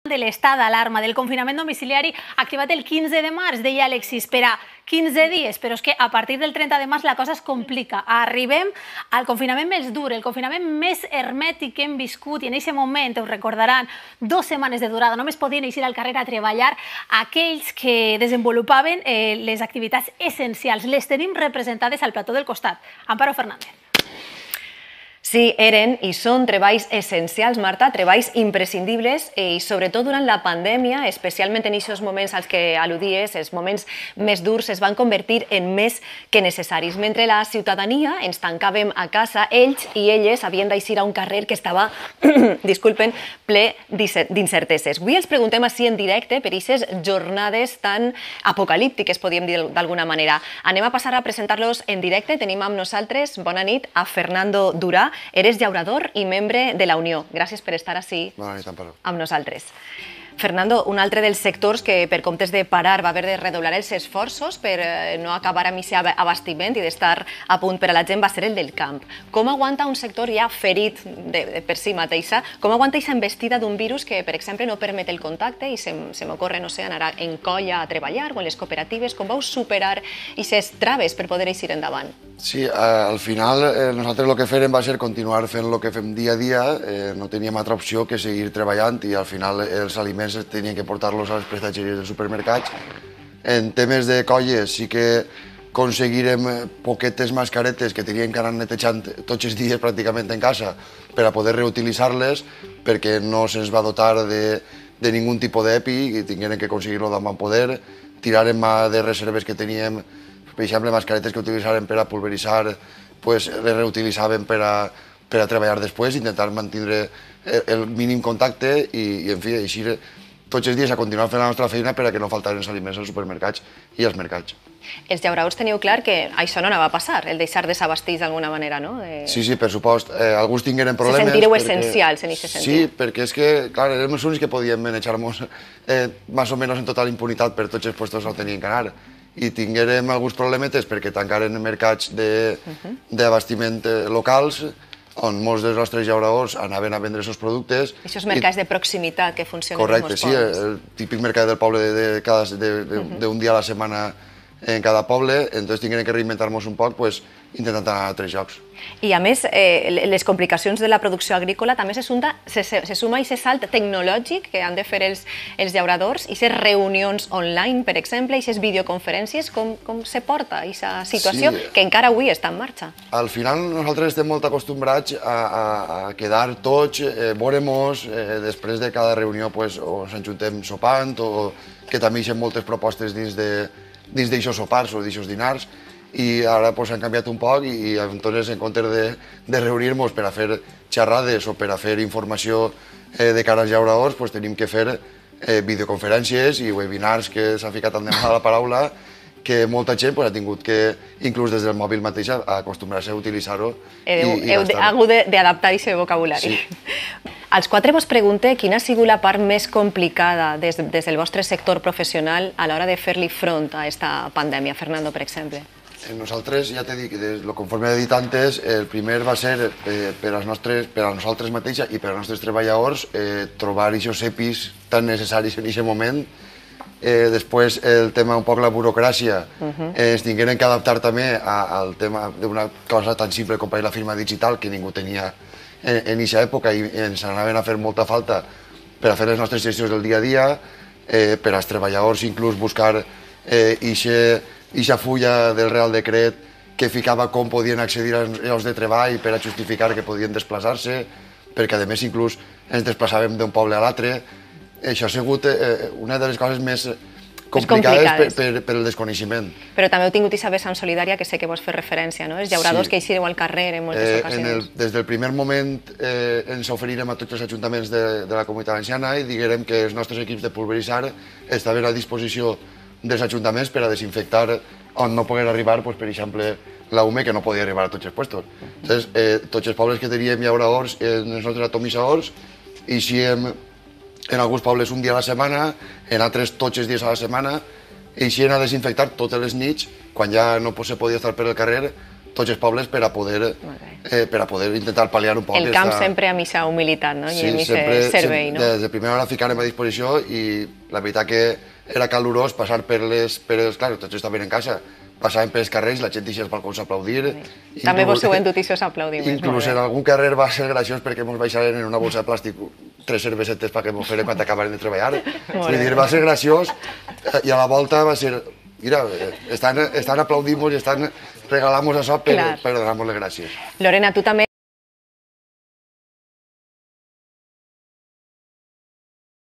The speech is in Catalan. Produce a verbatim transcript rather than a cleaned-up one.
de l'estat d'alarma, del confinament domiciliari activat el quinze de març, deia Alexis, per a quinze dies, però és que a partir del trenta de març la cosa es complica. Arribem al confinament més dur, el confinament més hermètic que hem viscut, i en aquest moment, us recordaran, dues setmanes de durada, només podien eixir al carrer a treballar aquells que desenvolupaven eh, les activitats essencials. Les tenim representades al plató del costat. Amparo Fernández. Sí, eren i són treballs essencials, Marta, treballs imprescindibles i sobretot durant la pandèmia, especialment en aquests moments als que al·ludies, els moments més durs es van convertir en més que necessaris. Mentre la ciutadania ens tancàvem a casa, ells i elles havien d'eixir a un carrer que estava, disculpen, ple d'incerteses. Avui els preguntem així en directe per aquestes jornades tan apocalíptiques, podríem dir d'alguna manera. Anem a passar a presentar-los en directe. Tenim amb nosaltres, bona nit, a Fernando Durà. Eres llaurador i membre de la Unió. Gràcies per estar així amb nosaltres. Fernando, un altre dels sectors que per comptes de parar va haver de redoblar els esforços per no acabar amb aquest abastiment i d'estar a punt per a la gent va ser el del camp. Com aguanta un sector ja ferit per si mateixa, com aguanta aquesta embestida d'un virus que, per exemple, no permet el contacte i se m'ocorre, no sé, anar en colla a treballar o en les cooperatives? Com vau superar aquestes traves per poder eixir endavant? Sí, al final nosaltres el que fèrem va ser continuar fent el que fem dia a dia, no teníem altra opció que seguir treballant i al final els aliments tenien que portar-los a les prestatgeries dels supermercats. En temes de colles sí que aconseguirem poquetes mascaretes que teníem que anar netejant tots els dies pràcticament en casa per a poder reutilitzar-les perquè no se'ns va dotar de ningun tipus d'EPI i tingueren que aconseguir-lo d'on van poder. Tirarem de reserves que teníem, per exemple, mascaretes que utilitzàvem per a pulveritzar, les reutilitzàvem per a treballar després, intentar mantenir el mínim contacte i, en fi, eixir tots els dies a continuar fent la nostra feina per a que no faltaren els aliments als supermercats i als mercats. Els llauradors teniu clar que això no anava a passar, el deixar desabastits d'alguna manera, no? Sí, sí, per supost. Alguns tingueren problemes... Se sentireu essencials en aquest sentit. Sí, perquè és que, clar, érem els únics que podíem manejar-nos més o menys en total impunitat per tots els puestos on tenien que anar. I tinguérem alguns problemetes perquè tancaren mercats d'abastiment locals on molts dels nostres llauradors anaven a vendre els seus productes. Aquests mercats de proximitat que funcionen en molts pobles. Correcte, sí, el típic mercat del poble d'un dia a la setmana en cada poble, entonces tinguem que reinventar-nos un poc intentant anar a altres llocs. I a més, les complicacions de la producció agrícola també se suma aquest salt tecnològic que han de fer els llauradors, aquestes reunions online, per exemple, aquestes videoconferències, com se porta aquesta situació que encara avui està en marxa? Al final nosaltres estem molt acostumbrats a quedar tots, veure-nos, després de cada reunió ens ajuntem sopant o que també hi ha moltes propostes dins d'aixòs sopars o d'aixòs dinars, i ara han canviat un poc i entonces en comptes de reunir-nos per a fer xerrades o per a fer informació de cara als llauradors, tenim que fer videoconferències i webinars, que s'ha ficat tant de mal a la paraula, que molta gent ha tingut que, inclús des del mòbil mateix, acostumar-se a utilitzar-ho. Heu hagut d'adaptar aquest vocabulari. Als quatre vos pregunte quina ha sigut la part més complicada des del vostre sector professional a l'hora de fer-li front a aquesta pandèmia. Fernando, per exemple. Nosaltres, ja t'he dit, conforme he dit antes, el primer va ser per a nosaltres mateixes i per als nostres treballadors trobar aquests EPIs tan necessaris en aquest moment. Després, el tema un poc la burocràcia, ens tingueren que adaptar també al tema d'una cosa tan simple com la firma digital que ningú tenia en aquesta època i ens anaven a fer molta falta per a fer les nostres gestions del dia a dia, per als treballadors inclús buscar aquesta fulla del Real Decret que ficava com podien accedir als llocs de treball per a justificar que podien desplaçar-se, perquè a més inclús ens desplaçàvem d'un poble a l'altre. Això ha sigut una de les coses més complicades per el desconeixement. Però també heu tingut aquesta vessant solidària que sé que vos fer referència, no? Els llauradors que eixireu al carrer en moltes ocasions. Des del primer moment ens oferirem a tots els ajuntaments de la Comunitat Valenciana i diguérem que els nostres equips de pulveritzar estaven a disposició dels ajuntaments per a desinfectar on no pogués arribar, per exemple, la U M E, que no podia arribar a tots els puestos. Tots els pobles que teníem llauradors, els nostres atomitzadors, eixíem en alguns pobles un dia a la setmana, en altres tots els dies a la setmana, eixien a desinfectar totes les nits, quan ja no se podia estar per el carrer, tots els pobles per a poder, eh, per a poder intentar pal·liar un poc. El camp sempre amb aquesta humilitat, no? Sí, I amb sempre, aquest servei, no? Des de primera hora ficarem a disposició i la veritat que era calorós passar per les... Per els, clar, tots estaven en casa, passàvem pels carrers, la gent deixia els balcons a aplaudir. També vos heu endut aquests aplaudiments. Inclús en algun carrer va ser graciós perquè ens baixaren en una bolsa de plàstic tres cervesetes perquè ens feren quan acabaren de treballar. Vull dir, va ser graciós i a la volta va ser... Mira, estan, estan aplaudint-nos i estan regalant-nos això per, per donar-nos les gràcies. Lorena, tu també